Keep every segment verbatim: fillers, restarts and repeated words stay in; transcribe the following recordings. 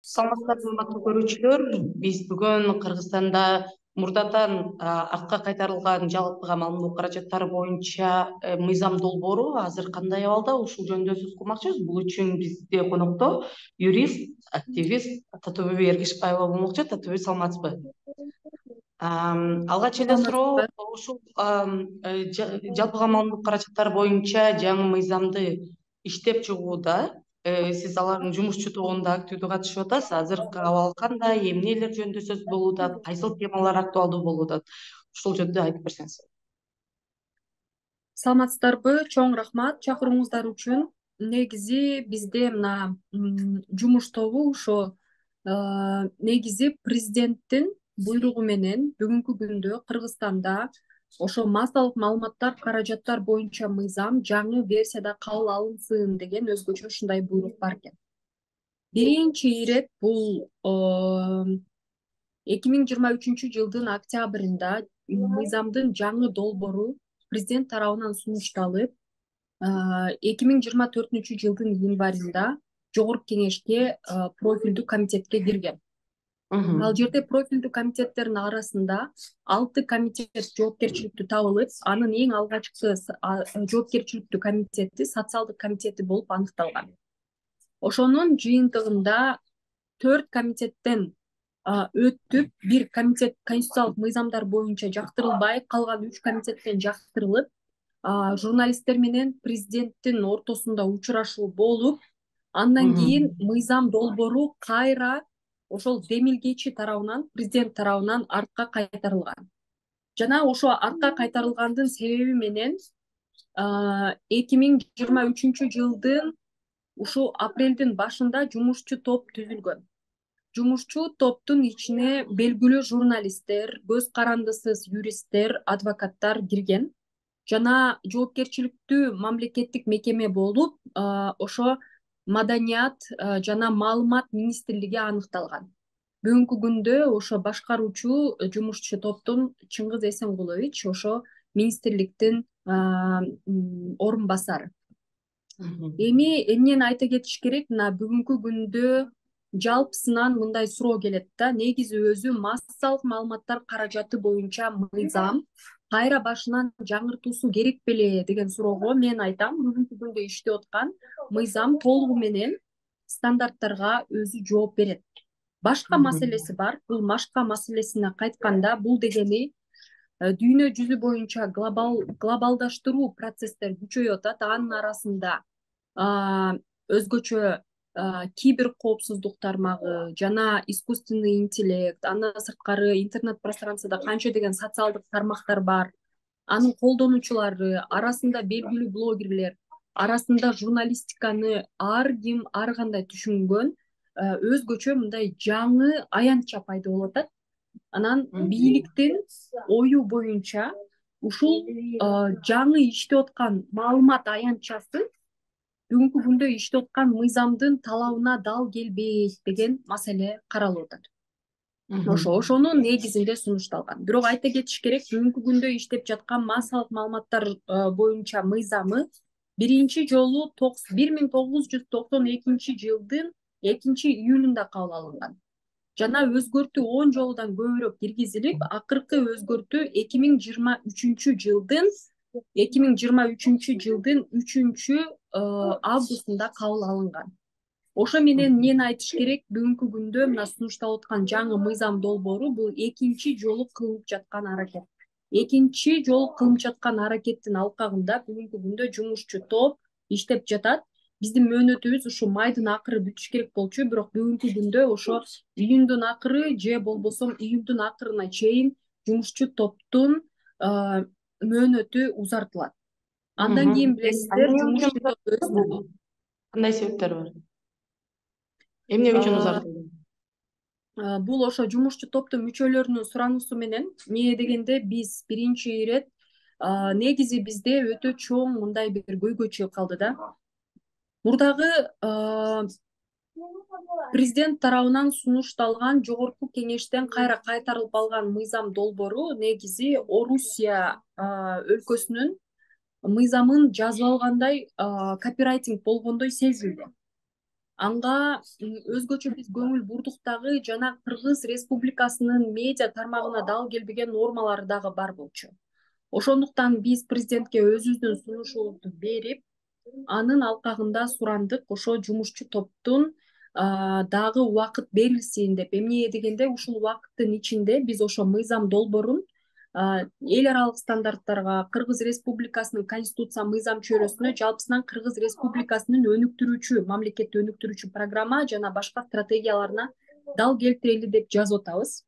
Саламатсыздарбы, урматтуу көрүүчүлөр. Биз бүгүн Кыргызстанда мурдадан артка кайтарылган жалпыга маалымдоо каражаттары боюнча мыйзам долбоору азыр кандай абалда, ушул жөнүндө сөз кылмакчыбыз. Бул үчүн бизде конокто юрист, активист Татыбүбү Эргешбаева болмокчу. Татыбүбү, саламатсызбы? Алгач эле суроо ушул жалпыга маалымдоо каражаттары боюнча жаңы мыйзамды иштеп чыгууда сиз алардын жумушчу тобунда активдүү катышып атасыз. Азыркы абал кандай, эмнелер жөнүндө сөз болуп атат, кайсыл темалар актуалдуу болуп атат? Ушул жөнүндө айтып берсеңиз. Саламатсыздарбы? Чоң рахмат чакырууңуздар үчүн. Негизи бизде мына жумуш тобу ошо негизи президенттин буйругу менен бүгүнкү күндө Кыргызстанда ошо массалык маалыматтар каражаттар боюнча мыйзам жаңы версияда кабыл алынсын деген өзгөчө ушундай буйрук бар экен. Биринчи ирет бул эки миң жыйырма үчүнчү жылдын октябрында мыйзамдын жаңы долбоору президент тарабынан сунушталып, эки миң жыйырма төртүнчү жылдын январында Жогорку Кеңешке профилдүү комитетке кирген. Ал жерде профилдүү комитеттердин арасында алты комитет жоопкерчиликтүү табылып, анын эң алгачкы жоопкерчиликтүү комитети социалдык комитети болуп аныкталган. Ошонун жыйынтыгында төрт комитеттен өтүп, бир комитет конституциялык мыйзамдар боюнча жактырылбай, калган үч комитеттен жактырылып, журналисттер менен президенттин ортосунда учурашуу болуп, андан кийин мыйзам долбоору кайра ошол демилгечи тарабынан, президент тарабынан артка кайтарылган. Жана ошо артка кайтарылгандын себеби менен эки миң жыйырма үчүнчү жылдын ушул апрелдин башында жумушчу топ түзүлгөн. Жумушчу топтун ичине белгилүү журналисттер, көз карандысыз юристтер, адвокаттар кирген жана жоопкерчиликтүү мамлекеттик мекеме болуп, ошо Маданият жана маалымат министрлиги аныкталган. Бүгүнкү күндө ошо башкаруучу жумушчу топтун Чыңгыз Эсенгулович ошо министрликтин орун басары. Эми эмнени айта кетиш керек, мына бүгүнкү күндө жалпысынан мындай суроо келет да, негизи өзү массалык маалыматтар каражаты боюнча мыйзам кайра башынан жаңыртуусу керек беле деген суроого мен айтам, бүгүнкү күндө иштеп аткан мыйзам толугу менен стандарттарга өзү жооп берет. Башка маселеси бар. Бул башка маселесине кайтканда, бул дегени дүйнө жүзү боюнча глобал глобалдаштыруу процесстер күчөйүп атат. Анын арасында өзгөчө кибер коопсуздук тармагы жана искусственный интеллект, андан сырткары интернет пространствода канча деген социалдык тармактар бар. Анын колдонуучулары арасында белгилүү блогерлер, арасында журналистиканы ар ким ар кандай түшүнгөн өзгөчө мындай жаңы аянтча пайда болуп атат. Анан бийликтин ою боюнча ушул жаңы иштеп аткан маалымат аянтчасы бүгүнкү күндө иштеп аткан мыйзамдын талабына дал келбейт деген маселе каралып атат. Ошо ошонун негизинде сунушталган. Бирок айта кетиш керек, бүгүнкү күндө иштеп жаткан массалык маалыматтар боюнча мыйзамы биринчи жолу бир миң тогуз жүз токсон экинчи жылдын экинчи июлунда кабыл алынган. Жана өзгөртүү он жолудан көбүрөөк киргизилип, акыркы өзгөртүү эки миң жыйырма үчүнчү жылдын эки миң жыйырма үчүнчү жылдын үчүнчү августунда кабыл алынган. Ошо менен эмнени айтыш керек, бүгүнкү күндө мына сунушталып аткан жаңы мыйзам долбоору бул экинчи жолу кылынып жаткан аракет. Экинчи жолу кылынып жаткан аракеттин алкагында бүгүнкү күндө жумушчу топ иштеп жатат. Биздин мөөнөтүбүз ушу майдын акыры бүтүш керек болчу, бирок бүгүнкү күндө ошо июндун акыры же болбосо июлдун акырына чейин жумушчу топтун мөөнөтү узартылат. Андан кийин билесиздер, жумушчу топ өз кандай себептер бар? Эмне үчүн узартылды? Бул ошо жумушчу топтун мүчөлөрүнүн сурануусу менен, эмне дегенде биз биринчи ирет негизи бизде өтө чоң мындай бир көйгөй чыгып калды да. Мурдагы президент тарабынан сунушталган Жогорку Кеңештен кайра кайтарылып алган мыйзам долбоору негизи Орусия өлкөсүнүн мыйзамын жазып алгандай копирайтинг болгондой сезилди. Анга өзгөчө биз көңүл бурдук дагы, жана Кыргыз Республикасынын медиа тармагына дал келбеген нормалары дагы бар болчу. Ошондуктан биз президентке өзүбүздүн сунушубузду берип, анын алкагында сурандык ошо жумушчу топтун дагы убакыт берилсин деп. Эмне дегенде, ушул убакыттын ичинде биз ошо мыйзам долбоорун эл аралык стандарттарга, Кыргыз Республикасынын конституция мыйзам чөйрөсүнө, жалпысынан Кыргыз Республикасынын өнүктүрүүчү, мамлекетти өнүктүрүүчү программа жана башка стратегияларына дал келтирели деп жазып атабыз.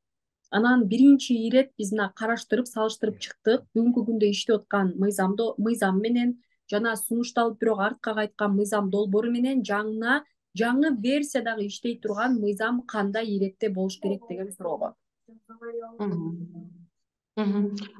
Анан биринчи ирет биз мына караштырып, салыштырып чыктык. Бүгүнкү күндө иштеп аткан мыйзамды мыйзам менен жана сунушталып бирок артка кайткан мыйзам долбоору менен жаңы жаңы версиядагы иштей турган мыйзам кандай иретте болуш керек деген суроого.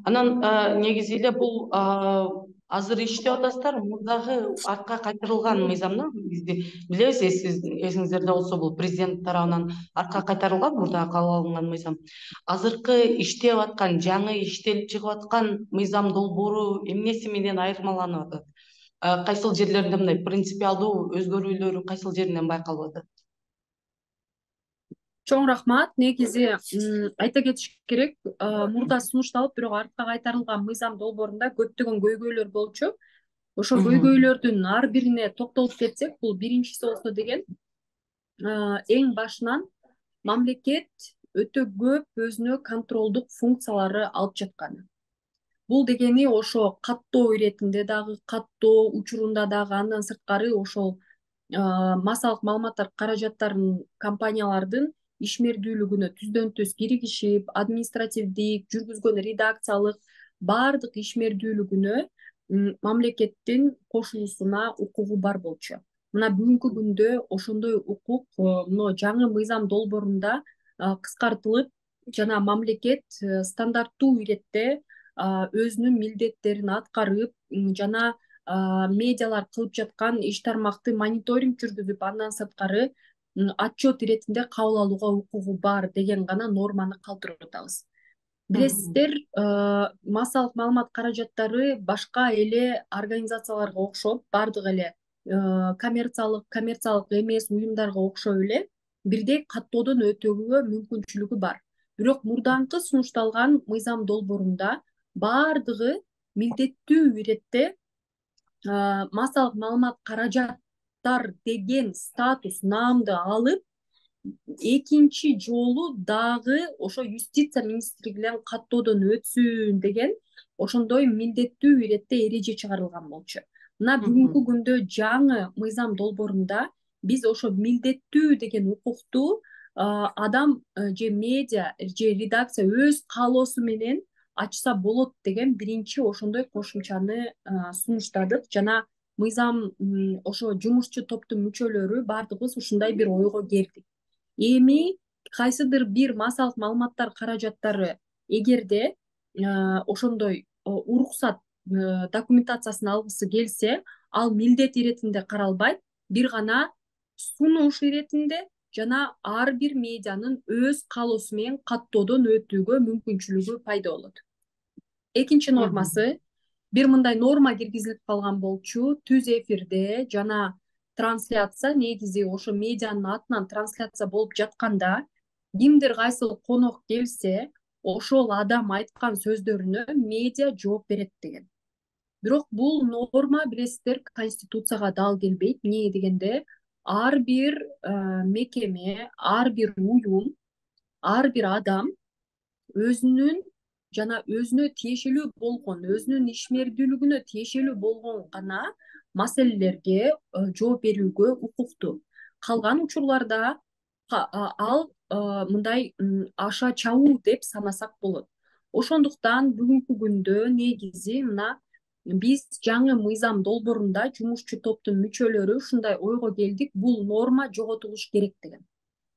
Анан негизи эле бул азыр иштеп атасыздар, мурдагы артка кайтарылган мыйзамда негизи билебиз, эсиңиздерде болсо бул президент тарабынан артка кайтарылган мурдагы кабыл алынган мыйзам. Азыркы иштеп аткан, жаңы иштелип чыгып аткан мыйзам долбоору эмнеси менен айырмаланып атат? Кайсыл жерлеринде мындай принципиалдуу өзгөрүүлөрү кайсыл жеринен байкалып атат? Чоң рахмат. Негизи айта кетиш керек, мурда сунушталып бирок артка кайтарылган мыйзам долбоорунда көптөгөн көйгөйлөр болчу. Ошо көйгөйлөрдүн ар бирине токтолуп кетсек, бул биринчиси болсо деген, эң башынан мамлекет өтө көп өзүнө контролдук функциялары алып жатканы. Бул дегени ошо каттоо иретинде дагы, каттоо учурунда дагы, андан сырткары ошол массалык маалыматтар каражаттарын компаниялардын ишмердүүлүгүнө түздөн түз киригишип, административдик, жүргүзгөн редакциялык баардык ишмердүүлүгүнө мамлекеттин кошулуусуна укугу бар болчу. Мына бүгүнкү күндө ошондой укук мына жаңы мыйзам долбоорунда кыскартылып, жана мамлекет стандарттуу иретте өзүнүн милдеттерин аткарып, жана медиалар кылып жаткан иш тармакты мониторинг жүргүзүп, андан сырткары отчет иретинде кабыл алууга укугу бар деген гана норманы калтырып атабыз. Билесиздер, массалык маалымат каражаттары башка эле организацияларга окшоп, бардык эле коммерциялык, коммерциялык эмес уюмдарга окшоп эле бирдей каттоодон өтүүгө мүмкүнчүлүгү бар. Бирок мурдаңкы сунушталган мыйзам долбоорунда бардыгы милдеттүү иретте массалык маалымат каражаттар деген статус, наамды алып, экинчи жолу дагы ошо юстиция министрлиги менен каттоодон өтсүн деген ошондой милдеттүү иретте эреже чыгарылган болчу. Мына бүгүнкү күндө жаңы мыйзам долбоорунда биз ошо милдеттүү деген укукту адам же медиа же редакция өз каалоосу менен ачса болот деген биринчи ошондой кошумчаны сунуштадык. Жана мыйзам ошо жумушчу топтун мүчөлөрү баардыгыбыз ушундай бир ойго келдик. Эми кайсыдыр бир массалык маалыматтар каражаттары эгерде ошондой уруксат документациясын алгысы келсе, ал милдет иретинде каралбайт, бир гана сунуш иретинде жана ар бир медианын өз каалоосу менен каттоодон өтүүгө мүмкүнчүлүгү пайда болот. Экинчи нормасы, бир мындай норма киргизилип калган болчу, түз эфирде жана трансляция, негизи ошо медианын атынан трансляция болуп жатканда кимдир кайсыл конок келсе, ошол адам айткан сөздөрүнө медиа жооп берет деген. Бирок бул норма, билесиздер, конституцияга дал келбейт. Эмне дегенде, ар бир мекеме, ар бир уюм, ар бир адам өзүнүн жана өзүнө тиешелүү болгон, өзүнүн ишмердүүлүгүнө тиешелүү болгон гана маселелерге жооп берүүгө укуктуу. Калган учурларда ал мындай аша чабуу деп санасак болот. Ошондуктан бүгүнкү күндө негизи мына биз жаңы мыйзам долбоорунда жумушчу топтун мүчөлөрү ушундай ойго келдик, бул норма жоготулуш керек деген.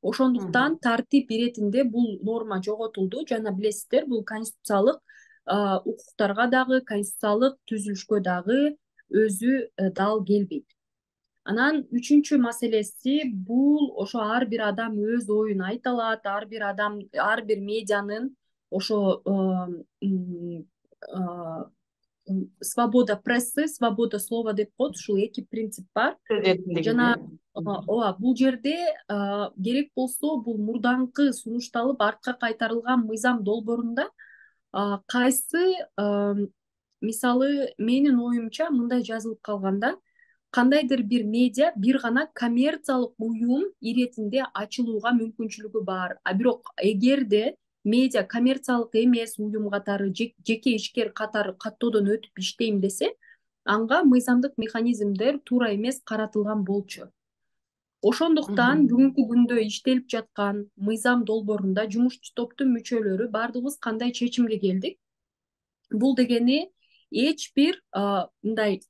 Ошондуктан тартип иретинде бул норма жоготулду. Жана билесиздер, бул конституциялык укуктарга дагы, конституциялык түзүлүшкө дагы өзү дал келбейт. Анан үчүнчү маселеси, бул ошо ар бир адам өз оюн айта алат, ар бир адам, ар бир медианын ошо свобода прессы, свобода слова деп коет, ушул эки принцип бар. Сөз эркиндиги. Жана ооба бул жерде керек болсо бул мурдаңкы сунушталып артка кайтарылган мыйзам долбоорунда кайсы мисалы менин оюмча мындай жазылып калган да, кандайдыр бир медиа бир гана коммерциялык уюм иретинде ачылууга мүмкүнчүлүгү бар. А бирок эгерде медиа коммерциялык эмес уюм катары, жеке ишкер катары каттоодон өтүп иштейм десе, анга мыйзамдык механизмдер туура эмес каратылган болчу. Ошондуктан бүгүнкү күндө иштелип жаткан мыйзам долбоорунда жумушчу топтун мүчөлөрү баардыгыбыз кандай чечимге келдик? Бул дегени эч бир мындай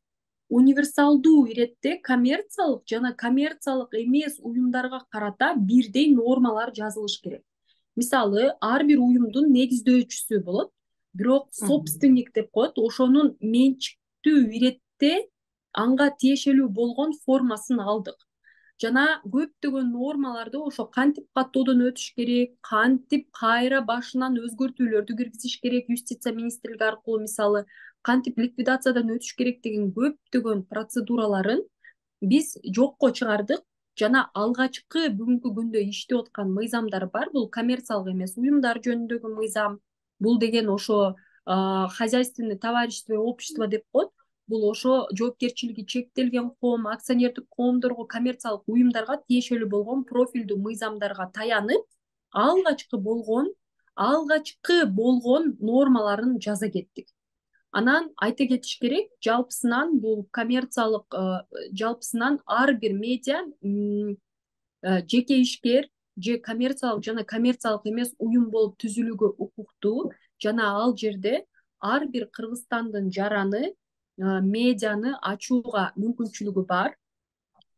универсалдуу иретте коммерциялык жана коммерциялык эмес уюмдарга карата бирдей нормалар жазылыш керек. Мисалы, ар бир уюмдун негиздөөчүсү болот, бирок собственник деп коет, ошонун менчиктүү иретте анга тиешелүү болгон формасын алдык. Жана көптөгөн нормаларды ошо кантип каттоодон өтүш керек, кантип кайра башынан өзгөртүүлөрдү киргизиш керек юстиция министрлиги аркылуу, мисалы, кантип ликвидациядан өтүш керек деген көптөгөн процедураларын биз жокко чыгардык. Жана алгачкы бүгүнкү күндө иштеп аткан мыйзамдар бар. Бул коммерциялык эмес уюмдар жөнүндөгү мыйзам. Бул деген ошо хозяйственный товарищество, общество деп коет. Бул ошо жоопкерчилиги чектелген коом, акционердик коомдорго, коммерциялык уюмдарга тиешелүү болгон профилдүү мыйзамдарга таянып, алгачкы болгон, алгачкы болгон нормаларын жаза кеттик. Анан айта кетиш керек, жалпысынан бул коммерциялык, жалпысынан ар бир медиа жеке ишкер же коммерциялык жана коммерциялык эмес уюм болуп түзүлүүгө укуктуу. Жана ал жерде ар бир Кыргызстандын жараны, медианы ачууга мүмкүнчүлүгү бар.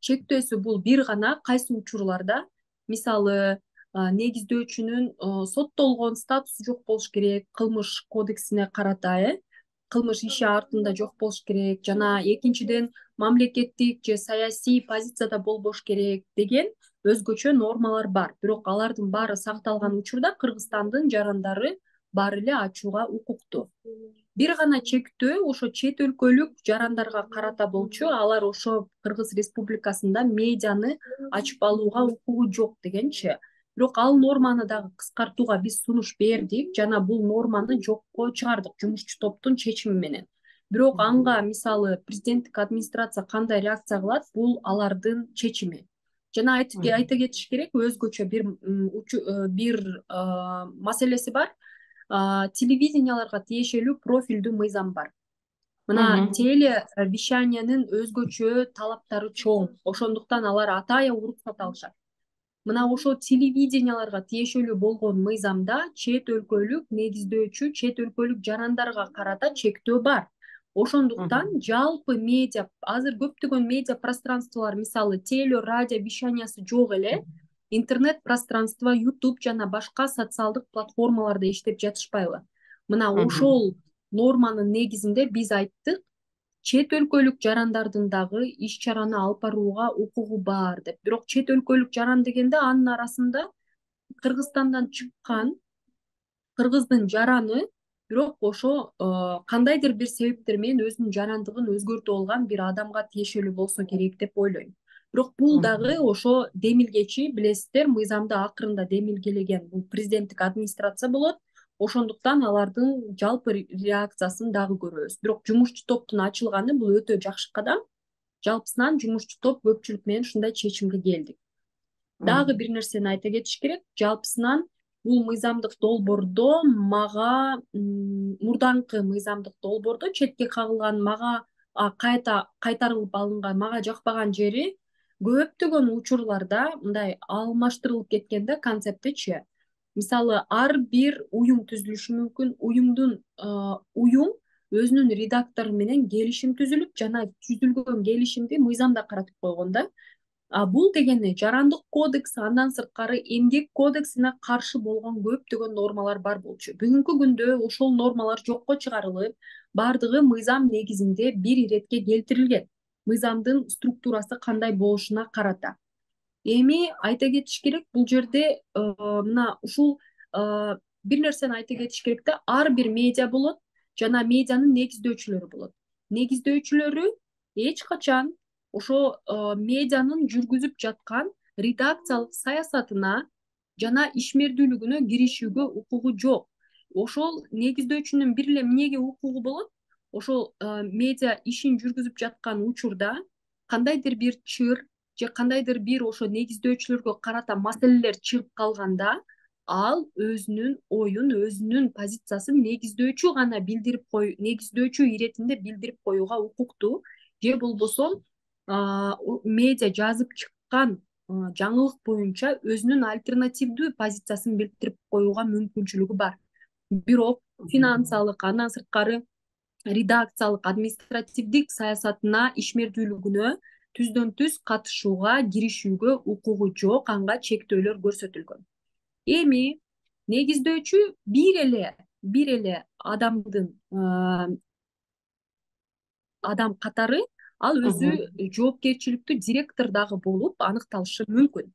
Чектөөсү бул бир гана кайсы учурларда, мисалы, негиздөөчүнүн соттолгон статусу жок болуш керек, кылмыш кодексине карата, э кылмыш иши артында жок болуш керек, жана экинчиден мамлекеттик же саясий позицияда болбош керек деген өзгөчө нормалар бар. Бирок алардын баары сакталган учурда Кыргызстандын жарандары баары эле ачууга укуктуу. Бир гана чектөө ошо чет өлкөлүк жарандарга карата болчу. Алар ошо Кыргыз Республикасында медианы ачып алууга укугу жок дегенчи. Бирок ал норманы дагы кыскартууга биз сунуш бердик жана бул норманы жокко чыгардык жумушчу топтун чечими менен. Бирок анга мисалы президенттик администрация кандай реакция кылат, бул алардын чечими. Жана айта кетиш керек, өзгөчө бир бир маселеси бар. Телевиденияларга тиешелүү профилдүү мыйзам бар. Мына телевещаниянын өзгөчө талаптары чоң. Ошондуктан алар атайын уруксат алышат. Мына ошо телевиденияларга тиешелүү болгон мыйзамда чет өлкөлүк негиздөөчү, чет өлкөлүк жарандарга карата чектөө бар. Ошондуктан жалпы медиа, азыр көптөгөн медиа пространстволор, мисалы, теле, радио вещаниясы жок эле, интернет пространство, YouTube жана башка социалдык платформаларда иштеп жатышпайбы? Мына ошол норманын негизинде биз айттык, чет өлкөлүк жарандардын дагы иш чараны алып барууга укугу бар деп. Бирок чет өлкөлүк жаран дегенде анын арасында Кыргызстандан чыккан кыргыздын жараны, бирок ошо кандайдыр бир себептер менен өзүнүн жарандыгын өзгөртүп алган бир адамга тиешелүү болсо керек деп ойлойм. Бирок бул дагы ошо демилгечи, билесиздер, мыйзамды акырында демилгелеген бул президенттик администрация болот. Ошондуктан алардын жалпы реакциясын дагы көрөбүз. Бирок жумушчу топтун ачылганы бул өтө жакшы кадам. Жалпысынан жумушчу топ көпчүлүк менен ушундай чечимге келдик. Дагы бир нерсени айта кетиш керек. Жалпысынан бул мыйзамдык долбоордо мага мурдаңкы мыйзамдык долбоордо четке кагылган, мага кайта кайтарылып алынган, мага жакпаган жери көптөгөн учурларда мындай алмаштырылып кеткен да концептичи. Мисалы, ар бир уюм түзүлүшү мүмкүн. Уюмдун уюм өзүнүн редактору менен келишим түзүлүп, жана түзүлгөн келишимди мыйзамда каратып койгон да. А бул дегени жарандык кодекс, андан сырткары эмгек кодексине каршы болгон көптөгөн нормалар бар болчу. Бүгүнкү күндө ошол нормалар жокко чыгарылып, бардыгы мыйзам негизинде бир иретке келтирилген. Мыйзамдын структурасы кандай болушуна карата. Эми айта кетиш керек, бул жерде мына ушул бир нерсени айта кетиш керек да, ар бир медиа болот. жана медианын негиздөөчүлөрү болот. Негиздөөчүлөрү эч качан ошо медианын жүргүзүп жаткан редакциялык саясатына жана ишмердүүлүгүнө киришүүгө укугу жок. Ошол негиздөөчүнүн бир эле эмнеге укугу болот? Ошол медиа ишин жүргүзүп жаткан учурда кандайдыр бир чыр же кандайдыр бир ошо негиздөөчүлөргө карата маселелер чыгып калганда ал өзүнүн оюн, өзүнүн позициясын негиздөөчү гана билдирип кой, негиздөөчү иретинде билдирип коюуга укуктуу. Же болбосо медиа жазып чыккан жаңылык боюнча өзүнүн альтернативдүү позициясын билдирип коюуга мүмкүнчүлүгү бар. Бирок финансылык, андан сырткары редакциялык, административдик саясатына, ишмердүүлүгүнө түздөн түз катышууга, киришүүгө укугу жок, анга чектөөлөр көрсөтүлгөн. Эми негиздөөчү бир эле бир эле адамдын адам катары ал өзү жоопкерчиликтүү директор дагы болуп аныкталышы мүмкүн.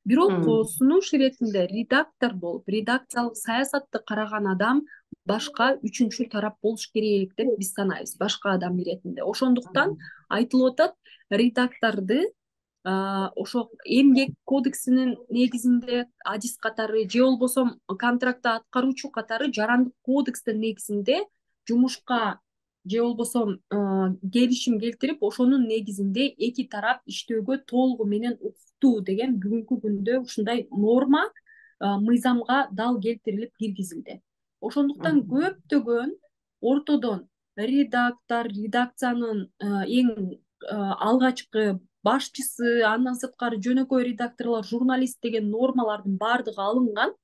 Бирок сунуш иретинде редактор болуп, редакциялык саясатты караган адам башка үчүнчү тарап болуш керек деп биз санайбыз, башка адам иретинде. Ошондуктан айтылып атат, редакторду ошо эмгек кодексинин негизинде адис катары же болбосо контрактты аткаруучу катары жарандык кодекстин негизинде жумушка же болбосо келишим келтирип, ошонун негизинде эки тарап иштөөгө толугу менен укуктуу деген бүгүнкү күндө ушундай норма мыйзамга дал келтирилип киргизилди. Ошондуктан көптөгөн ортодон редактор, редакциянын эң алгачкы башчысы, андан сырткары жөнөкөй редакторлор, журналист деген нормалардын баардыгы алынган.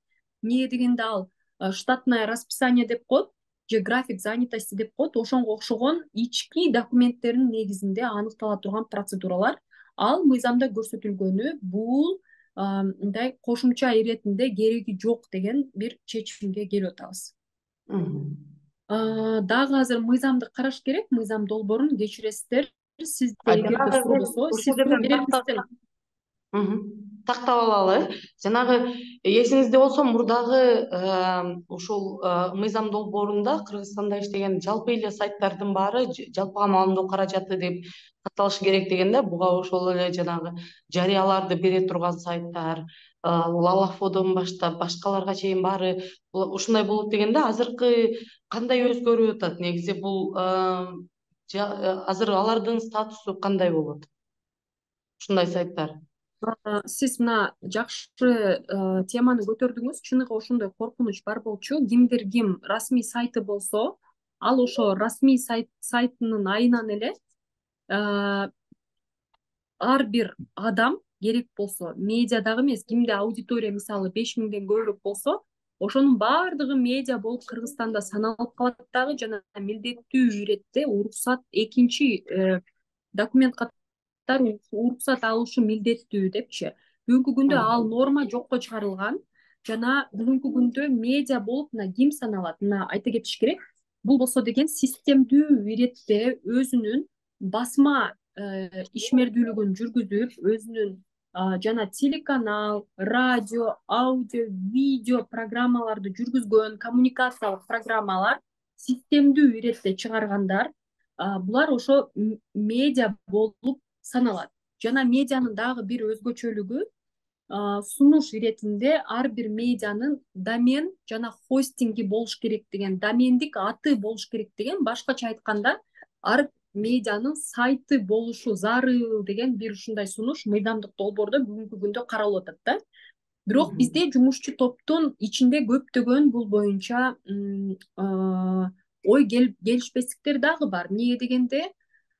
Эмне дегенде ал штатное расписание деп коет же график занятости деп коет. Ошонго окшогон ички документтердин негизинде аныктала турган процедуралар. Ал мыйзамда көрсөтүлгөнү бул мындай кошумча иретинде кереги жок деген бир чечимге келип атабыз. Дагы азыр мыйзамды караш керек, мыйзам долбоорун кечиресиздер. Сизде эгерде суроо болсо, сиз суроо бересиздер. Тактап алалы. Жанагы эсиңизде болсо мурдагы ушул мыйзам долбоорунда Кыргызстанда иштеген жалпы эле сайттардын баары жалпыга маалымдоо каражаты деп катталышы керек дегенде, буга ошол эле жанагы жарыяларды бере турган сайттар, Лалафодон баштап башкаларга чейин баары ушундай болот дегенде, азыркы кандай өзгөрүп атат? Негизи бул азыр алардын статусу кандай болот? Ушундай сайттар. Сиз мына жакшы теманы көтөрдүңүз. Чыныгы ошондой коркунуч бар болчу. Кимдир ким расмий сайты болсо, ал ошо расмий сайтынын айынан эле ар бир адам керек болсо, медиадагы эмес, кимде аудитория мисалы беш миңден көбүрөөк болсо, ошонун баардыгы медиа болуп Кыргызстанда саналып калат дагы, жана милдеттүү иретте уруксат экинчи документ катары уруксат алышы милдеттүү депчи. Бүгүнкү күндө ал норма жокко чыгарылган жана бүгүнкү күндө медиа болуп мына ким саналат? Мына айта кетиш керек. Бул болсо деген системдүү иретте өзүнүн басма ишмердүүлүгүн жүргүзүп, өзүнүн жана телеканал, радио, аудио, видео программаларды жүргүзгөн коммуникациялык программалар системдүү иретте чыгаргандар, булар ошо медиа болуп саналат. Жана медианын дагы бир өзгөчөлүгү, сунуш иретинде ар бир медианын домен жана хостинги болуш керек деген, домендик аты болуш керек деген, башкача айтканда ар медианын сайты болушу зарыл деген бир ушундай сунуш мыйзамдык долбоордо бүгүнкү күндө каралып атат да. Бирок бизде жумушчу топтун ичинде көптөгөн бул боюнча ой келишпестиктер дагы бар. Эмне дегенде,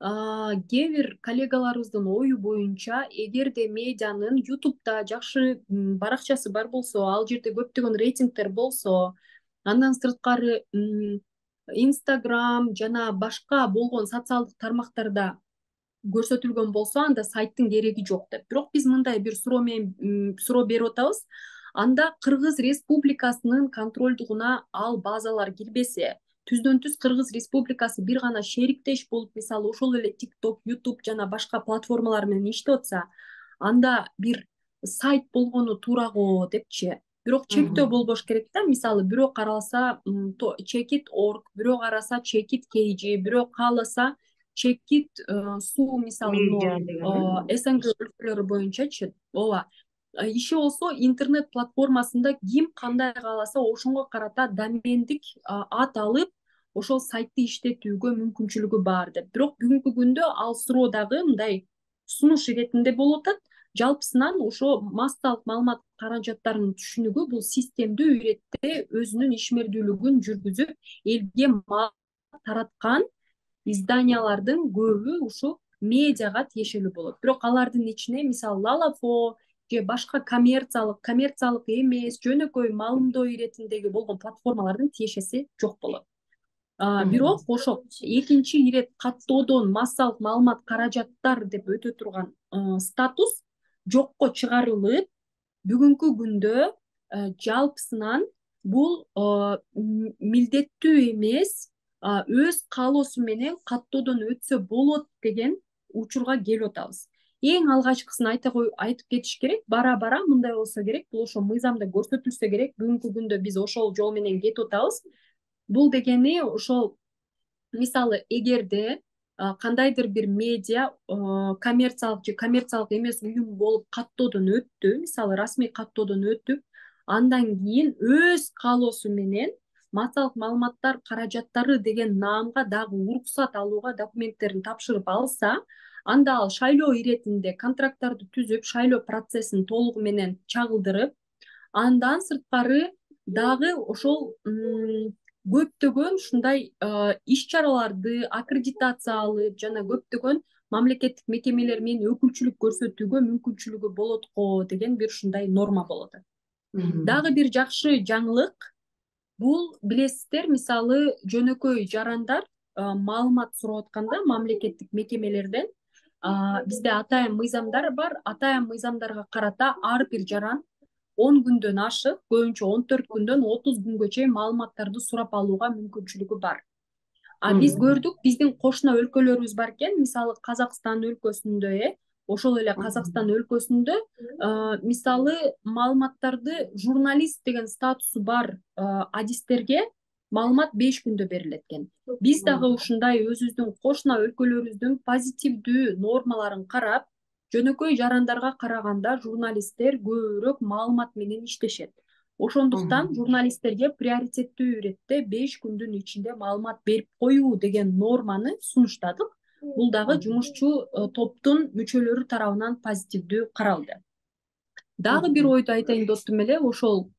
кээ бир коллегаларыбыздын ою боюнча, эгерде медианын ютубта жакшы баракчасы бар болсо, ал жерде көптөгөн рейтингдер болсо, андан сырткары Инстаграм жана башка болгон социалдык тармактарда көрсөтүлгөн болсо, анда сайттын кереги жок деп. Бирок биз мындай бир суроо менен суроо берип атабыз. Анда Кыргыз Республикасынын контролдугуна ал базалар кирбесе, түздөн түз Кыргыз Республикасы бир гана шериктеш болуп, мисалы ошол эле TikTok, YouTube жана башка платформалар менен иштеп атса, анда бир сайт болгону туура го депчи. бирок чектөө болбош керек да. Мисалы бирөө каралса чекит орг, бирөө караса чекит kg, бирөө кааласа чекит суу, мисалы мына СНГ өлкөлөрү боюнчачы. ооба иши болсо интернет платформасында ким кандай кааласа ошонго карата домендик ат алып ошол сайтты иштетүүгө мүмкүнчүлүгү бар деп. Бирок бүгүнкү күндө ал суроо дагы мындай сунуш иретинде болуп атат. Жалпысынан ошо массалык маалымат каражаттарынын түшүнүгү бул системдүү иретте өзүнүн ишмердүүлүгүн жүргүзүп элге маалымат тараткан изданиялардын көбү ушу медиага тиешелүү болот. Бирок алардын ичине мисалы Лалафо же башка коммерциялык, коммерциялык эмес, жөнөкөй маалымдоо иретиндеги болгон платформалардын тиешеси жок болот. Бирок ошо экинчи ирет каттоодон массалык маалымат каражаттар деп өтө турган статус жокко чыгарылып, бүгүнкү күндө жалпысынан бул милдеттүү эмес, өз каалоосу менен каттоодон өтсө болот деген учурга келип атабыз. Эң алгачкысын айтып кетиш керек. Бара бара мындай болсо керек, бул ошо мыйзамда көрсөтүлсө керек. Бүгүнкү күндө биз ошол жол менен кетип атабыз. Бул дегени ошол мисалы эгерде кандайдыр бир медиа коммерциялык же коммерциялык эмес уюм болуп каттоодон өттү, мисалы расмий каттоодон өтүп, андан кийин өз каалоосу менен массалык маалыматтар каражаттары деген наамга дагы уруксат алууга документтерин тапшырып алса, анда ал шайлоо иретинде контракттарды түзүп, шайлоо процессин толугу менен чагылдырып, андан сырткары дагы ошол көптөгөн ушундай иш-чараларды аккредитация алып, жана көптөгөн мамлекеттик мекемелер менен өкүлчүлүк көрсөтүүгө мүмкүнчүлүгү болот го деген бир ушундай норма болот. Дагы бир жакшы жаңылык бул, билесиздер, мисалы жөнөкөй жарандар маалымат сурап атканда мамлекеттик мекемелерден бизде атайын мыйзамдар бар. Атайын мыйзамдарга карата ар бир жаран он күндөн ашык, көбүнчө он төрт күндөн отуз күнгө чейин маалыматтарды сурап алууга мүмкүнчүлүгү бар. А биз көрдүк, биздин кошуна өлкөлөрүбүз бар экен, мисалы Казакстан өлкөсүндө, э, ошол эле Казакстан өлкөсүндө мисалы маалыматтарды журналист деген статусу бар адистерге маалымат беш күндө берилет экен. Биз дагы ушундай өзүбүздүн кошуна өлкөлөрүбүздүн позитивдүү нормаларын карап, жөнөкөй жарандарга караганда журналисттер көбүрөөк маалымат менен иштешет. Ошондуктан журналисттерге приоритеттүү иретте беш күндүн ичинде маалымат берип коюу деген норманы сунуштадык. Бул дагы жумушчу топтун мүчөлөрү тарабынан позитивдүү каралды. Дагы бир ойду айтайын достум эле, ошол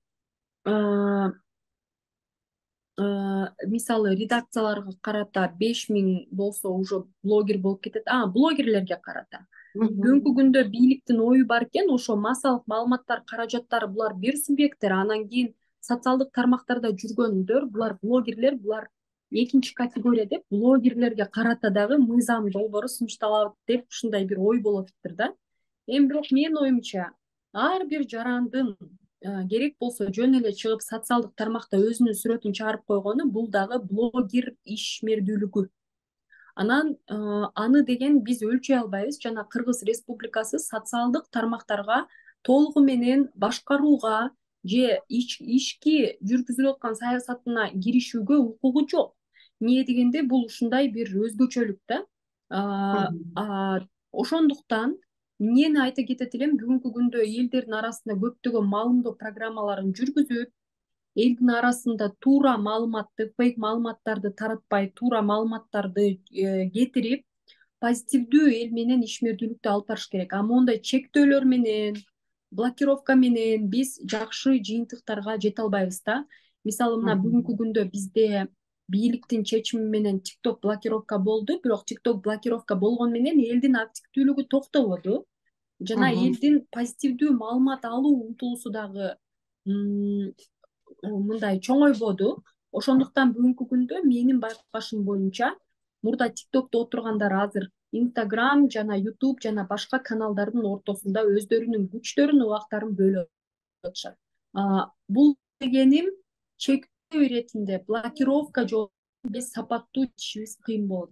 мисалы редакцияларга карата беш миң болсо уже блогер болуп кетет. А, блогерлерге карата. Бүгүнкү күндө бийликтин ою бар экен, ошо массалык маалыматтар каражаттары булар бир субъекттер, анан кийин социалдык тармактарда жүргөндөр, булар блогерлер, булар экинчи категория деп, блогерлерге карата дагы мыйзам долбоору сунушталат деп ушундай бир ой болуп атыптыр да. Эми бирок менин оюмча, ар бир жарандын керек болсо жөн эле чыгып социалдык тармакта өзүнүн сүрөтүн чыгарып койгону бул дагы блогер ишмердүүлүгү. Анан аны деген биз өлчөй албайбыз. Жана Кыргыз Республикасы социалдык тармактарга толугу менен башкарууга же ишки жүргүзүлүп аткан саясатына киришүүгө укугу жок. Эмне дегенде бул ушундай бир өзгөчөлүк да. Ошондуктан эмнени айта кетет элем, бүгүнкү күндө элдердин арасында көптөгөн маалымдоо программаларын жүргүзүп, элдин арасында туура маалыматты, фейк маалыматтарды таратпай, туура маалыматтарды кетирип, позитивдүү эл менен ишмердүүлүктү алып барыш керек. А мондай чектөөлөр менен, блокировка менен биз жакшы жыйынтыктарга жете албайбыз да. Мисалы мына бүгүнкү күндө бизде бийликтин чечими менен TikTok блокировка болду, бирок TikTok блокировка болгону менен элдин активдүүлүгү токтободу. Жана элдин позитивдүү маалымат алуу умтулуусу дагы мындай чоңойбоду. Ошондуктан бүгүнкү күндө менин байкашым боюнча мурда TikTokто отургандар азыр Instagram жана YouTube жана башка каналдардын ортосунда өздөрүнүн күчтөрүн, убактарын бөлүп атышат. Бул дегеним чектөө иретинде блокировка жолу биз сапаттуу ишибиз кыйын болот.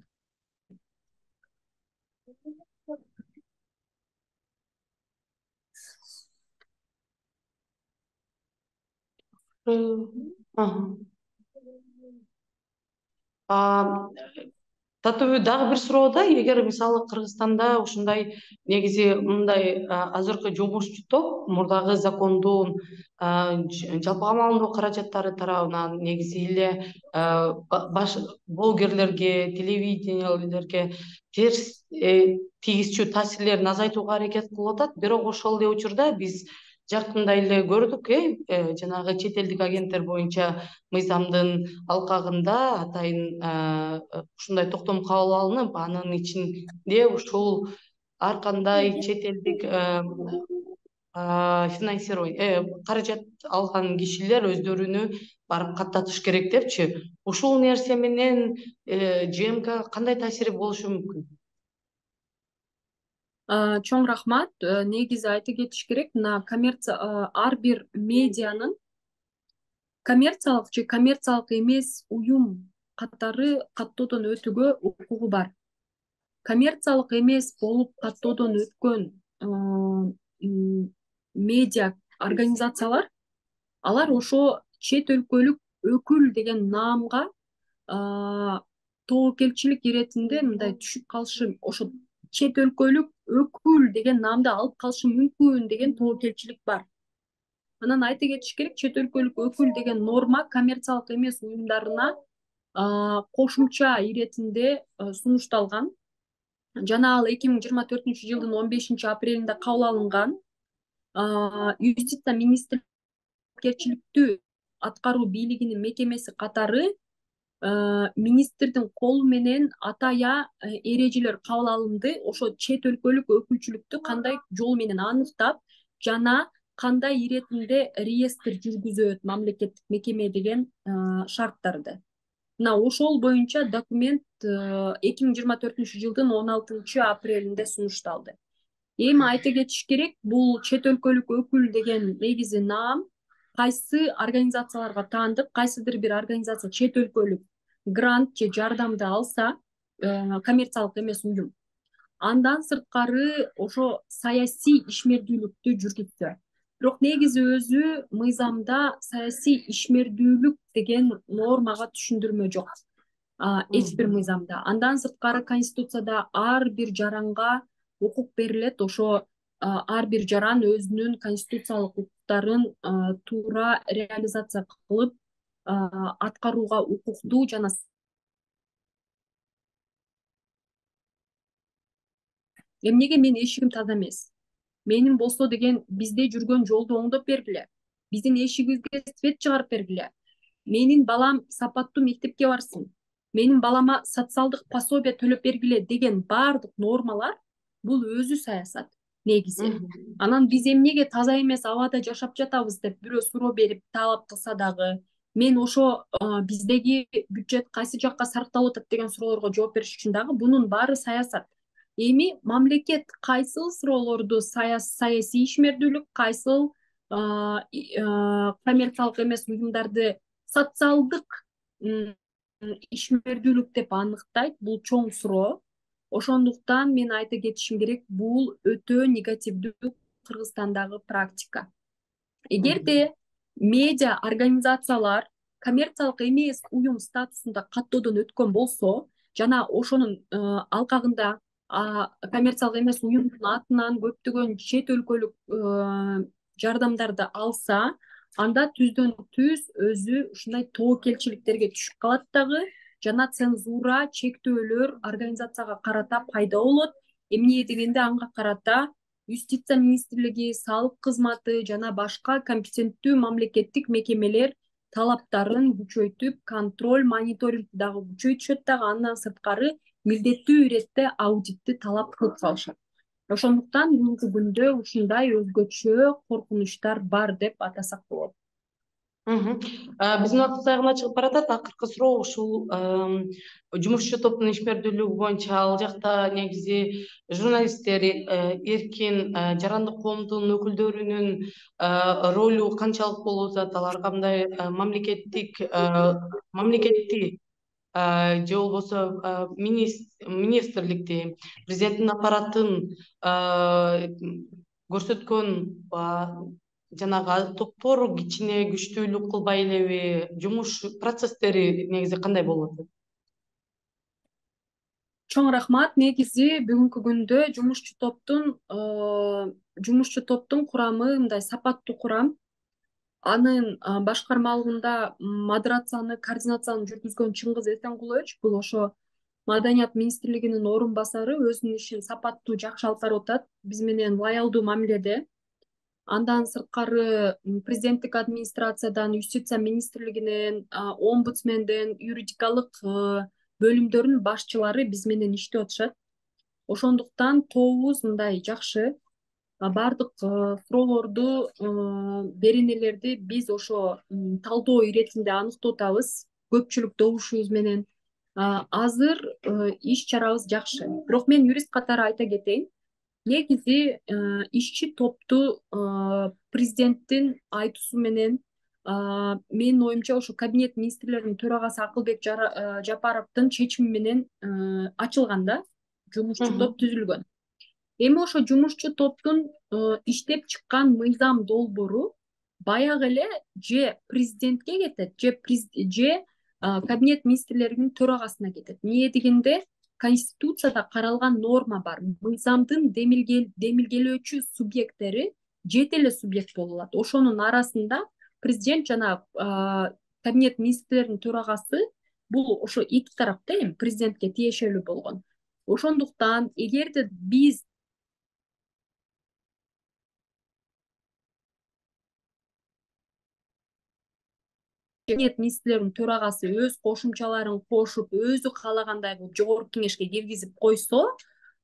Татуу дагы бир суроо да, эгер мисалы Кыргызстанда ушундай негизи мындай азыркы жумушчу топ мурдагы закондун жалпыга маалымдоо каражаттары тарабынан негизи эле баш блогерлерге, телевидениелерге терс тийгизчү таасирлерин азайтууга аракет кылып атат. Бирок ошол эле учурда биз жакында эле көрдүк, э жанагы чет элдик агенттер боюнча мыйзамдын алкагында атайын ушундай токтом кабыл алынып, анын ичинде ушул ар кандай чет элдик финансирование каражат алган кишилер өздөрүнү барып каттатыш керек депчи. Ушул нерсе менен ЖМК кандай таасири болушу мүмкүн? Чоң рахмат. Негизи айта кетиш керек, мына коммерция ар бир медианын коммерциялык же коммерциялык эмес уюм катары каттоодон өтүүгө укугу бар. Коммерциялык эмес болуп каттоодон өткөн медиа организациялар, алар ошо чет өлкөлүк өкүл деген наамга тобокелчилик иретинде мындай түшүп калышы, ошо чет өлкөлүк өкүл деген наамды алып калышы мүмкүн деген тобокелчилик бар. Анан айта кетиш керек, чет өлкөлүк өкүл деген норма коммерциялык эмес уюмдарына кошумча иретинде сунушталган. Жана ал эки миң жыйырма төртүнчү жылдын он бешинчи апрелинде кабыл алынган. Юстиция министрликтүү аткаруу бийлигинин мекемеси катары министрдин колу менен атая эрежелер кабыл алынды. Ошо чет өлкөлүк өкүлчүлүктү кандай жол менен аныктап жана кандай иретинде реестр жүргүзөт мамлекеттик мекеме деген шарттарды. Мына ошол боюнча документ эки миң жыйырма төртүнчү жылдын он алтынчы апрелинде сунушталды. Эми айта кетиш керек, бул чет өлкөлүк өкүл деген негизи наам кайсы организацияларга таандык, кайсыдыр бир организация чет өлкөлүк грант же жардамды алса, коммерциялык эмес уюм, андан сырткары ошо саясий ишмердүүлүктү жүргүзсө. Бирок негизи өзү мыйзамда саясий ишмердүүлүк деген нормага түшүндүрмө жок. Эч бир мыйзамда. Андан сырткары Конституцияда ар бир жаранга укук берилет. Ошо ар бир жаран өзүнүн конституциялык укуктарын туура реализация кылып аткарууга укуктуу жана эмнеге менин эшигим таза эмес? Менин болсо деген бизде жүргөн жолду оңдоп бергиле. Биздин эшигибизге свет чыгарып бергиле. Менин балам сапаттуу мектепке барсын. Менин балама социалдык пособие төлөп бергиле деген баардык нормалар бул өзү саясат негизи. Анан биз эмнеге таза эмес абада жашап жатабыз деп бирөө суроо берип талап кылса дагы, мен ошо биздеги бюджет кайсы жакка сарпталып атат деген суроолорго жооп бериш үчүн дагы бунун баары саясат. Эми мамлекет кайсыл суроолорду саясий ишмердүүлүк, кайсыл коммерциялык эмес уюмдарды социалдык ишмердүүлүк деп аныктайт, бул чоң суроо. Ошондуктан мен айта кетишим керек, бул өтө негативдүү Кыргызстандагы практика. Эгерде медиа организациялар коммерциялык эмес уюм статусунда каттоодон өткөн болсо жана ошонун алкагында коммерциялык эмес уюмдун атынан көптөгөн чет өлкөлүк жардамдарды алса, анда түздөн түз өзү ушундай тобокелчиликтерге түшүп калат дагы, жана цензура, чектөөлөр организацияга карата пайда болот. Эмне дегенде анга карата Юстиция министрлиги, салык кызматы жана башка компетенттүү мамлекеттик мекемелер талаптарын күчөйтүп, контроль, мониторингди дагы күчөйтүшөт дагы, андан сырткары милдеттүү иретте аудитти талап кылып салышат. Ошондуктан бүгүнкү күндө ушундай өзгөчө коркунучтар бар деп атасак болот. Биздин убактыбыз аягына чыгып баратат. Акыркы суроо ушул жумушчу топтун ишмердүүлүгү боюнча ал жакта негизи журналисттер, эркин жарандык коомдун өкүлдөрүнүн ролу канчалык болуп атат, алар кандай мамлекеттик мамлекетти же болбосо министрликти, президенттин аппаратын көрсөткөн жанагы топтор кичине күчтүүлүк кылбай элеби, жумуш процесстери негизи кандай болуп атат? Чоң рахмат. Негизи бүгүнкү күндө жумушчу топтун жумушчу топтун курамы мындай сапаттуу курам. Анын башкармалыгында модерацияны, координацияны жүргүзгөн Чыңгыз Эсенкулович, бул ошо Маданият министрлигинин орун басары, өзүнүн ишин сапаттуу, жакшы алып барып атат, биз менен лоялдуу мамиледе. Андан сырткары президенттик администрациядан, юстиция министрлигинен, омбудсменден, юридикалык бөлүмдөрдүн башчылары биз менен иштеп атышат. Ошондуктан тобубуз мындай жакшы. Бардык суроолорду, беренелерди биз ошо талдоо иретинде аныктап атабыз. Көпчүлүк добушубуз менен азыр иш чарабыз жакшы. Бирок мен юрист катары айта кетейин. Негизи ишчи топту президенттин айтуусу менен, менин оюмча ошо кабинет министрлеринин төрагасы Акылбек Жапаровдун чечими менен ачылган да, жумушчу топ түзүлгөн. Эми ошо жумушчу топтун иштеп чыккан мыйзам долбоору баягы эле же президентке кетет, же кабинет министрлеринин төрагасына кетет. Эмне дегенде Конституцияда каралган норма бар. Мыйзамдын демилгелөөчү субъекттери жети эле субъект болуп алат. Ошонун арасында президент жана кабинет министрлеринин төрагасы бул ошо эки тарапта эми президентке тиешелүү болгон. Ошондуктан эгерде биз кабинет министрлеринин төрагасы өз кошумчаларын кошуп, өзү каалагандай кылып жогорку кеңешке киргизип койсо,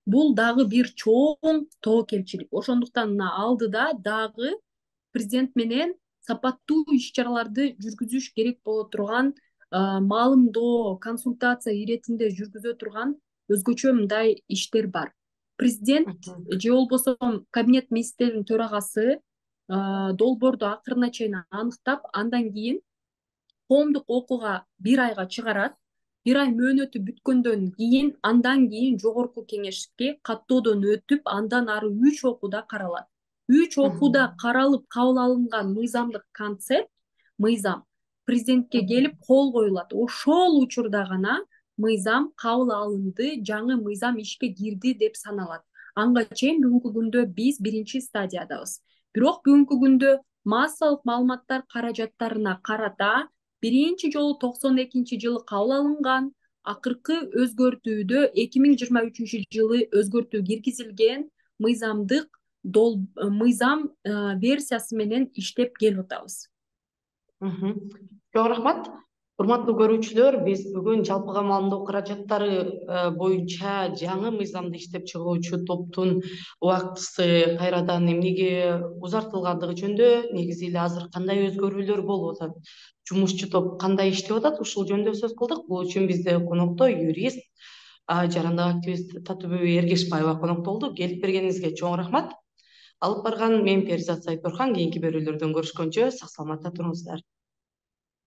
бул дагы бир чоң тобокелчилик. Ошондуктан мына алдыда дагы президент менен сапаттуу иш-чараларды жүргүзүш керек боло турган, маалымдоо, консультация иретинде жүргүзө турган өзгөчө мындай иштер бар. Президент же болбосо кабинет министрлеринин төрагасы долбоорду акырына чейин аныктап, андан кийин коомдук окууга бир айга чыгарат. Бир ай мөөнөтү бүткөндөн кийин, андан кийин жогорку кеңешке каттоодон өтүп, андан ары үч окууда каралат. Үч окууда каралып кабыл алынган мыйзамдык концепт, мыйзам президентке келип кол коюлат. Ошол учурда гана мыйзам кабыл алынды, жаңы мыйзам ишке кирди деп саналат. Анга чейин бүгүнкү күндө биз биринчи стадиядабыз. Бирок бүгүнкү күндө массалык маалыматтар каражаттарына карата биринчи жолу токсон экинчи жылы кабыл алынган, акыркы өзгөртүүдө эки миң жыйырма үчүнчү жылы өзгөртүү киргизилген мыйзамдык мыйзам версиясы менен иштеп келип атабыз. Чоң рахмат. Урматтуу көрүүчүлөр, биз бүгүн жалпыга маалымдоо каражаттары боюнча жаңы мыйзамды иштеп чыгуучу топтун убактысы кайрадан эмнеге узартылгандыгы жөнүндө, негизи эле азыр кандай өзгөрүүлөр болуп атат, жумушчу топ кандай иштеп атат, ушул жөнүндө сөз кылдык. Бул үчүн бизде конокто юрист, жарандык активист Татыбүбү Эргешбаева конокто болду. Келип бергениңизге чоң рахмат. Алып барган мен Перизат Сайторхан. Кийинки берүүлөрдөн көрүшкөнчө сак саламатта туруңуздар.